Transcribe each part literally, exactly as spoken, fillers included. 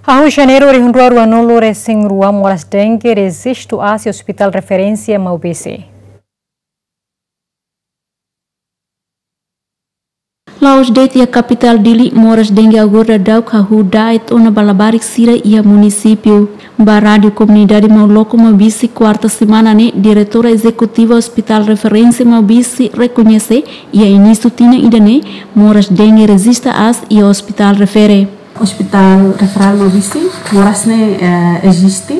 Hahú Janeiru rihun rua ruanulu-resin-rua, moras dengue rejistu aas iha Hospital Referénsia Maubisse. La'ós de'it iha kapitál Dili, moras dengue agora daudauk hahú da'et ona ba labarik sira iha munisípiu. Ba Rádiu Komunidade Mauloko Maubisse, kuarta semana ne'e, Diretora Ezekutiva Hospital Referénsia Maubisse rekoñese iha inísiu tinan ida-ne'e, moras dengue rejistu aas iha Hospital Refere. Hospital Referral Maubisse, moras ne'e, eh, eziste.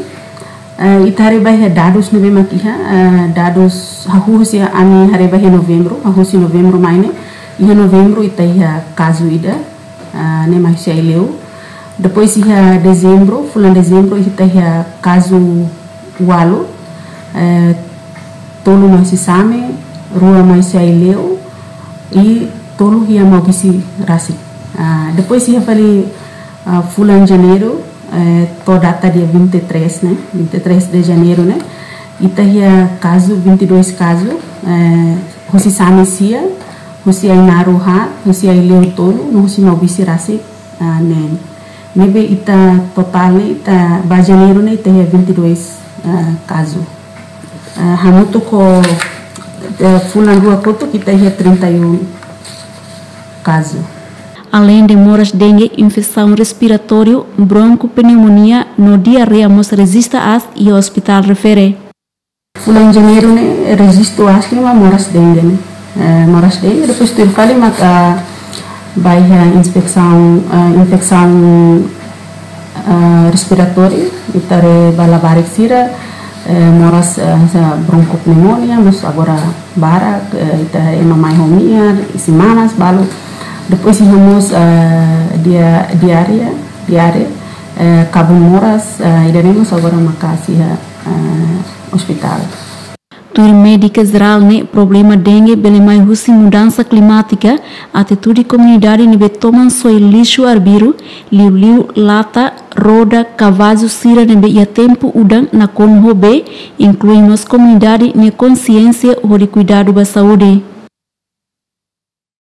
Eh, ita haree ba iha dadus ne'ebé mak iha, eh, dadus hahú husi ami haree ba iha Novembru, hahú husi Novembru mai ne'e, iha Novembru ita iha kazu ida, eh, ne'e mai husi Aileu. Depois iha Dezembru, fulan Dezembru ita iha kazu ualu, eh, tolu mai husi Same, rua mai husi Aileu, i tolu iha Maubisse rasik. Ah, depois iha fali, ah, fulan Janeiru, eh, to'o data dia vinte e três ne'e, vinte e três de Janeiro ne'e, ita iha kazu, vinte e dois kazu, eh, husi Same sia, husi Ainaro haat, husi Aileu tolu, no husi Maubisse rasik, ah, neen. Ne'ebé ita totál ne'e, ita ba Janeiru ne'e ita iha vinte e dois, ah, kazu. Ah, hamutuk ho, eh, fulan rua kotuk ita iha trinta e um kazu. Aleinde moras dengue, infesaun respiratóriu, bronkopneumonia no diarreia mós rejistu aas iha Hospital Refere. Fulan Janeiru ne'e rejistu aas ne'e mak moras dengue ne'e. Eh, moras dengue, depois tuir fali mak, ah, ba iha inspesaun, ah, infesaun, ah, respiratóriu, ita haree ba labarik sira, eh, moras, ah, sa bronkopneumonia, mós agora barak, eh, ita ema mai ho nia, isin-manas, balu. Depois iha mós, ah, dia-, diarreia, diarreia, eh, kabun moras, ah, ida-ne'e mós agora maka'as iha, ah, hospital. Tuir médika jerál ne'e, problema dengue bele mai husi mudansa klimátika, atitude komunidade ne'ebé toman soe lixu arbiru, liuliu lata, roda, kavazu sira ne'ebé iha tempu udan nakonu ho bee, inklui mós komunidade nia konxiénsia hodi kuidadu ba saúde.